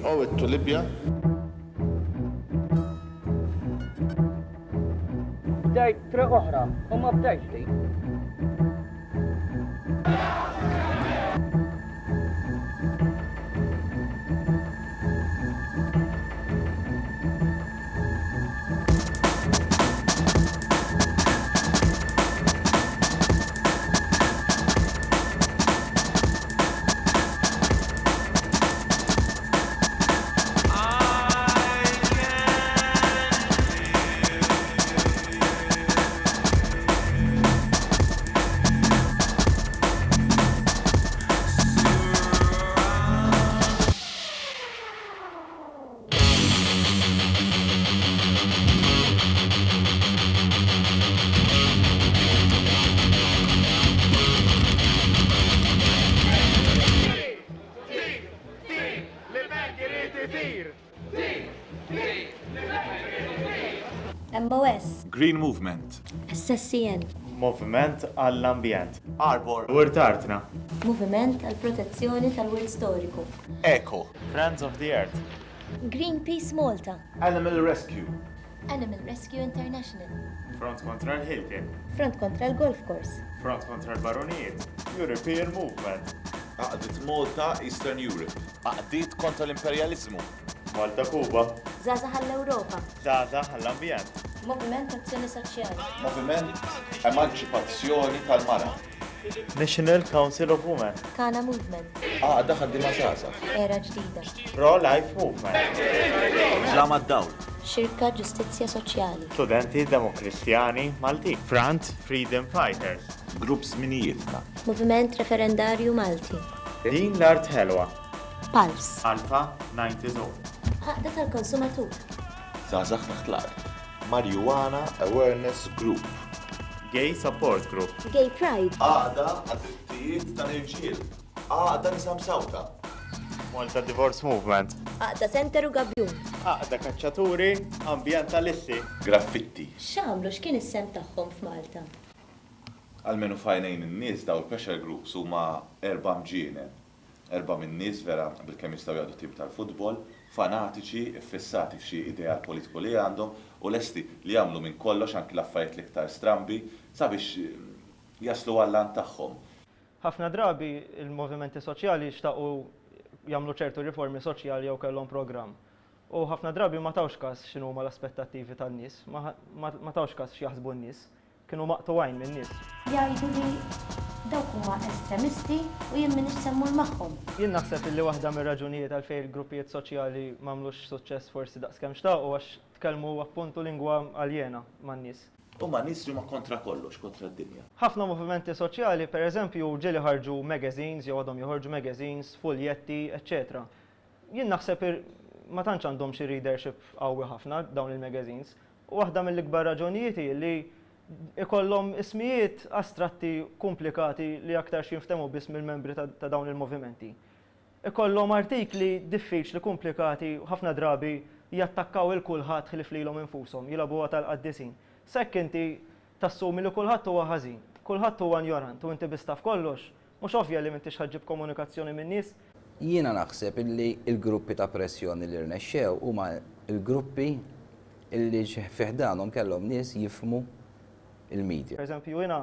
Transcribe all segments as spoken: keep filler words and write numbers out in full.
We owe it to Libya. Bdejt triq oħra u ma bdejtx din. M O S. Green Movement. S S C N. Moviment għall-Ambjent. Arbor. Wirt Artna. Moviment għall-Protezzjoni tal-Wirt Storiku. Eco. Friends of the Earth. Greenpeace Malta. Animal Rescue. Animal Rescue International. Front kontra l-Hilton. Front kontra l-Golf Course. Front kontra l-Baronijiet. European Movement. Għaqdiet Malta Eastern Europe. Għaqdiet kontra l-Imperjalizmu. Malta Kuba. Żgħażagħ għall-Ewropa. Żgħażagħ għall-Ambjent. Moviment Azzjoni Soċjali. Moviment Emanċipazzjoni tal-Mara. National Council of Women. Kana Movement. Għaqda Ħaddiema Żgħażagħ. Era Ġdida. Pro-Life Movement. Ġlama d-Dawl. Xirka Ġustizzja Soċjali. Studenti Demokristjani Malti. Front Freedom Fighters. Grupp Żminijietna. Moviment Referendarju Malti. Din l-Art Ħelwa. Pulse. Alpha ninety-two. Għaqda tal-Konsumatur. Żgħażagħ taħt l-art. Marijuana Awareness Group. Gay Support Group. Gay Pride. Għaqda għad-drittijiet tal-irġiel. Għaqda nisa msawta. Malta Divorce Movement. Għaqda Center u Gabjun. Għaqda Kaċċaturi Ambjentalisti. Graffitti. X'għamlu, x'kien is-sem tagħhom f'Malta? Almenu f'għajnejn in-nies daw il-pressure groups huma erba' mġienen. Erba' minn nies vera bilkemm jistgħu jgħaddu tim tal-futbol, fanatiċi, iffissati f'xi ideal politiku li għandhom u lesti li jagħmlu minn kollox anki l-affarijiet l-iktar strambi sabiex jaslu għall-għan tagħhom. Ħafna drabi il-movimenti soċjali xtaqu jagħmlu ċertu riformi soċjali jew kellhom programm. U ħafna drabi ma tawx każ x'inhuma l-aspettattivi tan-nies, ma, ma, ma tawx każ x'jaħsbu n-nies, kienu maqtuwajn min-nies. Jgħidu li dawk huma estremisti u jien m'iniex se mmur magħhom. Jien naħseb illi waħda mir-raġunijiet għalfejn il-gruppijiet soċjali m'għamlux suċċess forsi daqskemm xtaqu għax tkellmu appuntu lingwa aljena man-nies. Huma nies li huma kontra kollox, kontra d-dinja. Ħafna movimenti soċjali, per eżempju, ġieli ħarġu magazines, jew għadhom joħorġu magazines, fuljetti, eċċetera. Jien naħseb ir-, ma tantx għandhom xi readership qawwi ħafna dawn il-magazines. U waħda mill-ikbar raġunijiet hi li ikollhom ismijiet astratti komplikati li aktar jinftehmu biss mill-membri ta', ta' dawn il-movimenti. Ikollhom artikli diffiċli, komplikati, u ħafna drabi jattakkaw il kulħadd ħlief lilhom infushom, jilagħbuha tal-qaddisin. Sekk inti tassumi li kulħadd huwa ħażin, kulħadd huwa ignorant u inti biss taf kollox, mhux ovvja li m'intix ħaġġib komunikazzjoni min-nies. Jiena naħseb illi l-gruppi ta' pressjoni li rnexxew huma l-gruppi illi fi ħdanhom kellhom nies jifhmu il-media. Per eżempju, jiena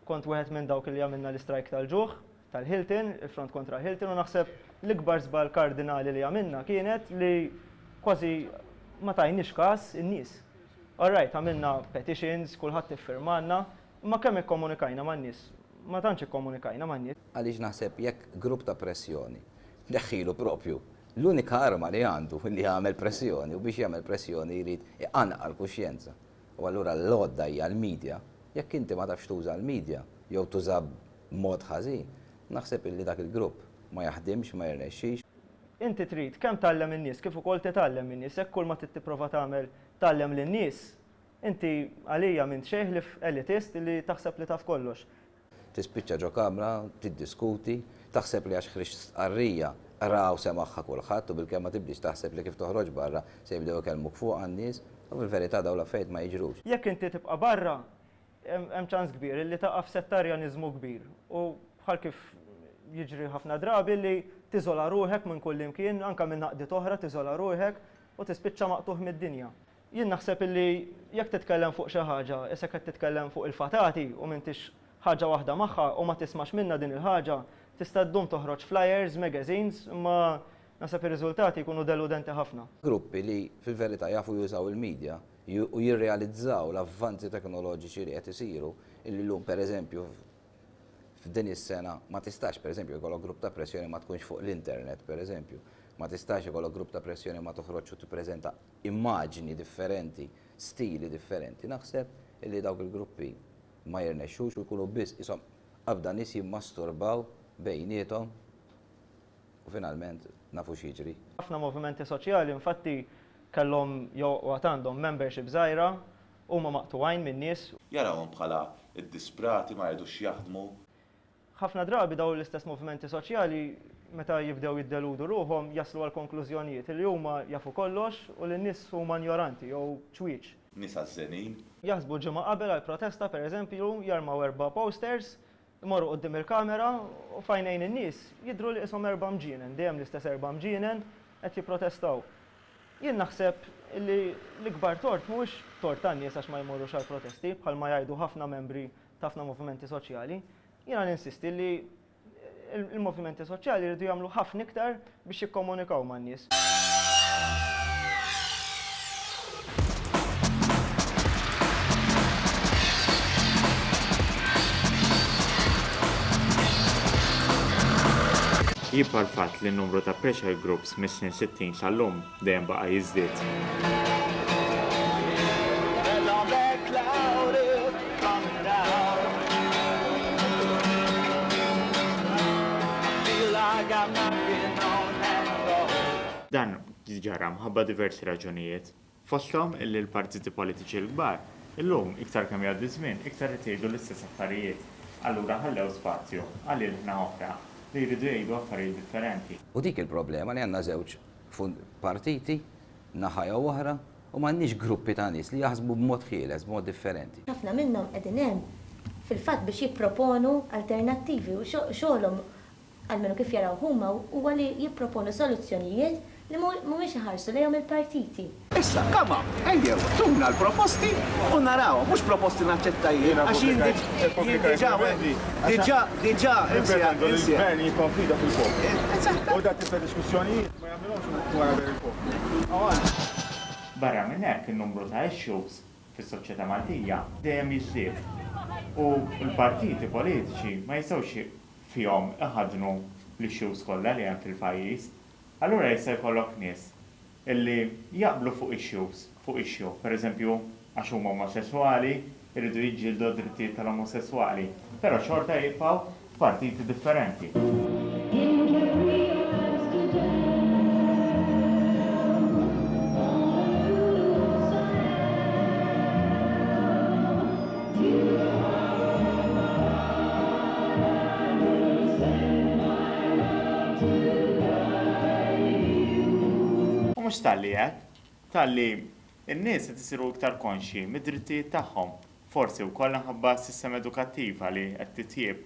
kont wieħed minn dawk li għamilna l-istrajk tal-ġuħ, tal-Hilton, il-front kontra Hilton, u naħseb l-ikbar żball kardinali li għamilna kienet li kważi ma tajniex każ in-nies. All right, għamilna petitions, kulħadd iffirmanna, imma kemm ikkomunikajna man-nies? Ma tantx ikkomunikajna man-nies. Għaliex naħseb jekk grupp ta' pressjoni tneħħilu propju l-unika arma li għandu li jagħmel pressjoni u biex jagħmel pressjoni jrid iqanqal kuxjenza. U allura l-għodda hija l-media. Jekk inti ma tafx tuża l-media jew tuża b'mod ħażin, naħseb illi dak il-grupp ma jaħdimx, ma jirnexxix. Inti trid kemm tgħallem in-nies kif ukoll titgħallem min-nies, jekk kull ma trid tipprova tagħmel tgħallem lin-nies, inti għalija m'int xejn ħlief elitist li taħseb li taf kollox. Tispiċċa ġo kamra, tiddiskuti, taħseb li għax ħriġt stqarrija raw semagħha kulħadd u bilkemm ma tibdix taħseb li kif toħroġ barra se jibdew ikellmuk fuq għan-nies, u fil-verità dawn l-affarijiet ma jiġrux. Jekk inti tibqa' barra, hemm, hemm ċans kbir li taqa' f'settarjaniżmu kbir u bħal kif jiġri ħafna drabi li tiżola ruħek minn kull imkien, anke minn għaqdiet oħra tiżola ruħek u tispiċċa maqtugħ mid-dinja. Jien naħseb illi jekk titkellem fuq xi ħaġa, issa qed titkellem fuq il-fatati u m'intix ħaġa waħda magħha u ma tismax minna din il-ħaġa, tista' ddum toħroġ flyers, magazines, imma naħseb ir-riżultati jkunu deludenti ħafna. Gruppi li fil-verità jafu jużaw il-medja u jirrealizzaw l-avvanzi teknoloġiċi li qed isiru, illi llum pereżempju f'din is-sena ma tistax pereżempju jkollok grupp ta' pressjoni ma tkunx fuq l-internet pereżempju, ma tistax ikollok grupp ta' pressjoni ma toħroġ u tippreżenta immaġni differenti, stili differenti. Naħseb illi dawk il-gruppi ma jirnexxux u jkunu biss isom qabda nies jimmasturbaw bejniethom u finalment nafu x'jiġri. Ħafna movimenti soċjali infatti kellhom jew għad għandhom membership żgħira huma maqtugħin min-nies. Jarawhom bħala id-disprati ma jridux jaħdmu. Ħafna drabi dawn l-istess movimenti soċjali meta jibdew jiddeludu ruħhom jaslu għal konklużjonijiet li huma jafu kollox u li n-nies huma ignoranti jew ċwieċ. Nies għażżenin. Jaħsbu ġimgħa qabel għal protesta pereżempju, jarmaw erba' posters, imorru quddiem il-kamera u f'għajnejn in-nies jidhru li qishom erba' mġienen, dejjem l-istess erba' mġienen qed jipprotestaw. Jien naħseb li l-ikbar tort mhuwiex tort tan-nies għax ma jmorrux għal protesti bħalma jgħidu ħafna membri ta' ħafna movimenti soċjali. Jiena ninsisti li il-movimenti soċjali jridu jagħmlu ħafna iktar biex jikkomunikaw man-nies. Jibqa' l-fatt li n-numru ta' pressure groups mis-snin sittin sal-lum dejjem baqa' jiżdied. Dan ġara mħabba diversi raġunijiet, fosthom illi l-partiti politiċi l-kbar illum iktar kemm jgħaddi żmien iktar qed jgħidu l-istess affarijiet, allura ħallew spazju għal ilħna oħra li jridu jgħidu affarijiet differenti. U dik il-problema li għandna żewġ partiti, naħa jew oħra, u m'għandniex gruppi ta' nies li jaħsbu b'mod ħieles, b'mod differenti. Ħafna minnhom qegħdin hemm fil-fatt biex jipproponu alternattivi u xogħolhom almenu kif jaraw huma huwa li jipproponu soluzzjonijiet li mhumiex iħarsu lejhom il-partiti. Issa, come on, ejjew, tuna l-proposti u naraw, mhux proposti naċċetta jien, għax jien diġà, diġà, diġà, il-gvern jikkonfida fil-poplu. U dak tip ta' diskussjonijiet ma jagħmilhomx wara ber il-poplu. Barra minn hekk in-numru ta' issues fis-soċjetà Maltija dejjem jiżdied u l-partiti politiċi ma jistgħux fihom iħaddnu l-issues kollha li hemm fil-pajjiż. Allura jista' jkollok nies illi jaqblu fuq issues, fuq issue, pereżempju għax huma omosessuali, iridu jiġġieldu d-drittijiet tal-omosessuali, però xorta jibqgħu f'partiti differenti. Mhux talli hekk, talli n-nies qed isiru iktar konxji mid-drittijiet tagħhom, forsi wkoll minħabba s-sistema edukattiva li qed titjieb.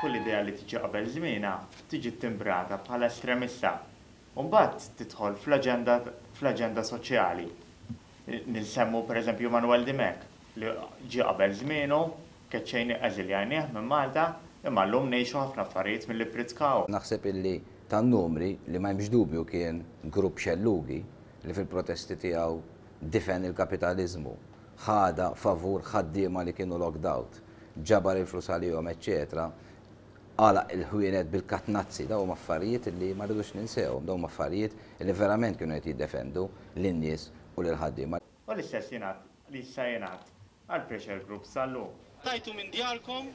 Kull idea li tiġi qabel żmienha tiġi ttimbrata bħala estremista u mbagħad tidħol fl-aġenda fl-aġenda soċjali. Ninsemmu pereżempju Manuel Dimech li ġie qabel żmienu, keċċejni eżiljajnieh minn Malta, imma llum ngħixu ħafna affarijiet milli ppritkaw. Naħseb illi tan-numri li ma hemmx dubju kien grupp xellugi li fil-protesti tiegħu difen il-kapitaliżmu, ħada favur ħaddiema li kienu locked out, ġabar il-flus għalihom, eċċetera, għalaq il-ħwienet bil-katnazzi, dawn huma affarijiet li ma rridux ninsewhom, dawn huma affarijiet li verament kienu qed jiddefendu lin-nies u lil-ħaddiema. U l-istess jingħad li issa jingħad għal pressure groups sal-lum. Tajtu minn djarkom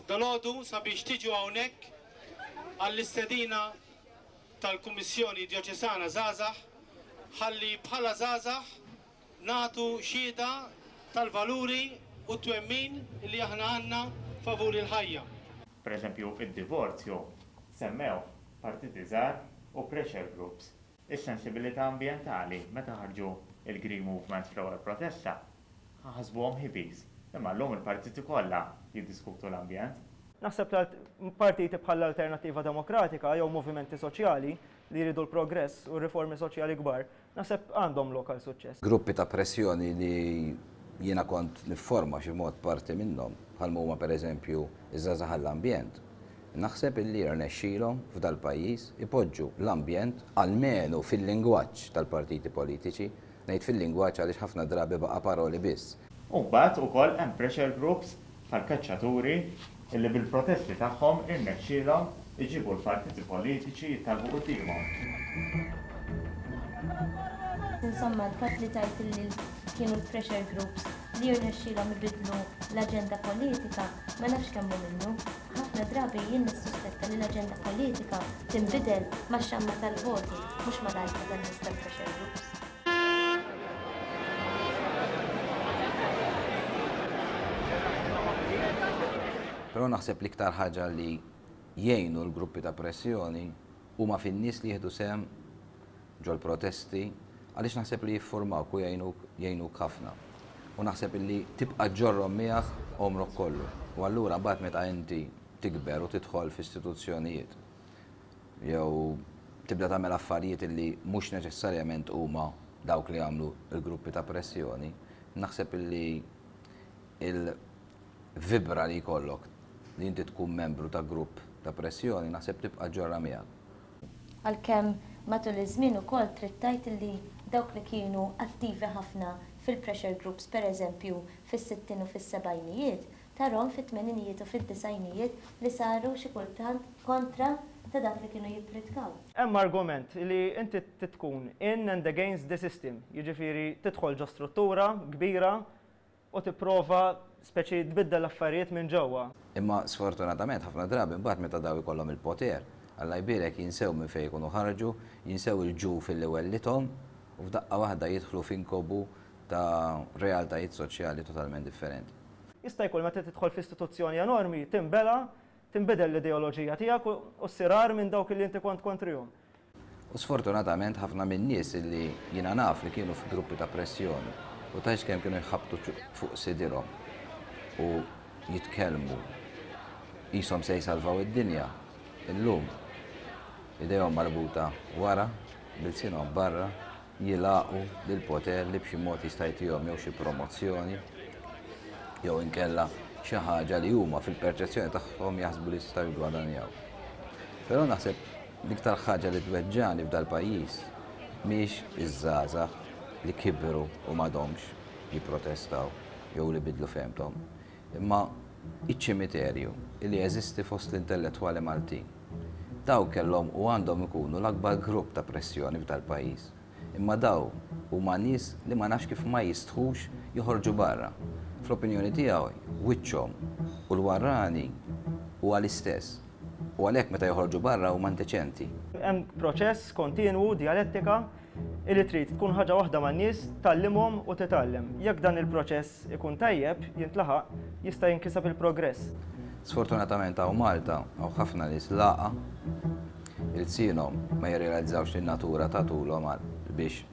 dalgħodu sabiex tiġu hawnhekk għall-istedina tal-Kummissjoni Djoċesana Żgħażagħ ħalli bħala żgħażagħ nagħtu xhieda tal-valuri u t-twemmin li aħna għandna favur il-ħajja. Per eżempju, id-divorzju semmew partiti żgħar u pressure groups. Is-sensibilità ambjentali meta ħarġu il-Green Movement fl-ewwel protesta ħasbuhom hippies. Imma llum il-partiti kollha jiddiskutu l-ambjent. Naħseb partiti bħal Alternattiva Demokratika jew movimenti soċjali li jridu l-progress u riformi soċjali kbar, naħseb għandhom lokal suċċess. Gruppi ta' pressjoni li jiena kont nifforma xi mod parti minnhom, bħal huma pereżempju iż-żgħażagħ għall-ambjent. Naħseb illi rnexxielhom f'dal-pajjiż ipoġġu l-ambjent almenu fil-lingwaġġ tal-partiti politiċi, ngħid fil-lingwaġġ għaliex ħafna drabi baqa' paroli biss. U mbagħad ukoll hemm pressure groups bħall-kaċċaturi illi bil-protesti tagħhom irnexxielhom iġibu l-partiti politiċi jittalbu quddiemhom. Insomma, l-fatt li tajt li kienu l-pressure groups li jirnexxielhom ibidlu l-aġenda politika, ma nafx kemm hu minnu. Ħafna drabi jien nissuspetta li l-aġenda politika tinbidel max-xamma tal-voti, mhux mal-għajta tan-nies tal-pressure groups. Però naħseb l-iktar ħaġa li jgħinu l-gruppi ta' pressjoni huma fin-nies li jieħdu sehem ġol-protesti, għaliex naħseb li jiffurmawk u jgħinuk ħafna. U naħseb li tibqa' ġorrom miegħek għomrok kollu. U allura mbagħad meta inti tikber u tidħol f'istituzzjonijiet jew tibda tagħmel affarijiet li mhux neċessarjament huma dawk li għamlu l-gruppi ta' pressjoni, naħseb li il-vibra li jkollok li inti tkun membru ta' grupp ta' pressjoni, naħseb tibqa' ġorra miegħek. Għalkemm matul iż-żmien ukoll trid tgħid li dawk li kienu attivi ħafna fil-pressure groups, pereżempju fis-sittin u fis-sebgħinijiet, tarhom fit-tmeninijiet u fid-disgħinijiet li saru xi kultant kontra ta' dak li kienu jippritkaw. Hemm argument li inti tkun in and against the system, jiġifieri tidħol ġo struttura kbira u tipprova speċi tbiddel l-affarijiet minn ġewwa. Imma sfortunatament ħafna drabi mbagħad meta daw ikollhom il-poter, Alla jbierek jinsew minn fejn ikunu ħarġu, jinsew il-ġuf illi wellithom u f'daqqa waħda jidħlu f'inkobu ta' realtajiet soċjali totalment differenti. Jista' jkun meta tidħol f'istituzzjoni enormi tinbela, tinbidel l-ideoloġija tiegħek u ssir agħar minn dawk li inti kont kontrihom. U sfortunatament ħafna minn nies illi jiena naf li kienu f'gruppi ta' pressjoni u tgħidx kemm kienu jħabbtu fuq sidirhom u jitkellmu qishom se jsalvaw id-dinja, illum idejhom marbuta wara, bil-sinhom barra, jilaqu lill-poter li b'xi mod jista' jtihom jew xi promozzjoni jew inkella xi ħaġa li huma fil-perċezzjoni tagħhom jaħsbu li jistgħu jiggwadanjaw. Però naħseb l-iktar ħaġa li tweġġani f'dal-pajjiż mhix iż-żgħażagħ li kibru u m'għadhomx jipprotestaw jew li bidlu fehmthom, imma iċ-ċimiterju li jeżisti fost l-intellettwali Maltin. Daw kellhom u għandhom ikunu l-akbar grupp ta' pressjoni f'dal-pajjiż. Imma daw huma nies li ma nafx kif ma jistħux joħorġu barra. Fl-opinjoni tiegħu wiċċhom u l-warrani huwa l-istess. U għalhekk meta joħorġu barra huma indeċenti. Hemm proċess kontinwu, dialettika, illi trid tkun ħaġa waħda man-nies, tgħallimhom u titgħallem. Jekk dan il-proċess ikun tajjeb, jintlaħaq, jista' jinkiseb il-progress. Sfortunatament hawn Malta hawn ħafna nies laqa il-sinhom ma jirrealizzawx li n-natura tagħtulhom biex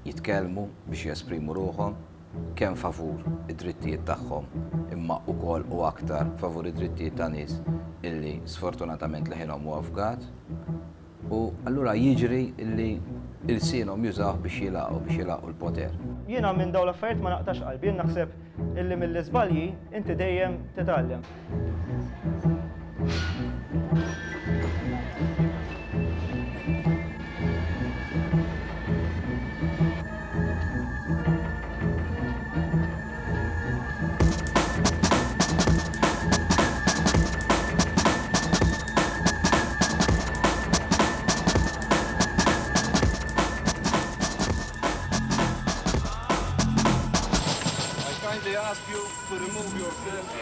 jitkellmu, biex jesprimu ruħhom, kemm favur id-drittijiet tagħhom, imma wkoll u aktar favur id-drittijiet ta' nies illi sfortunatament leħinhom huwa fgat. U allura jiġri illi il-sinhom jużawh biex jilaqgħu, biex jilaqgħu l-poter. Jiena minn dawn l-affarijiet ma naqtax qalbi, jien naħseb illi mill-iżbalji inti dejjem titgħallem. Ask you to remove yourself.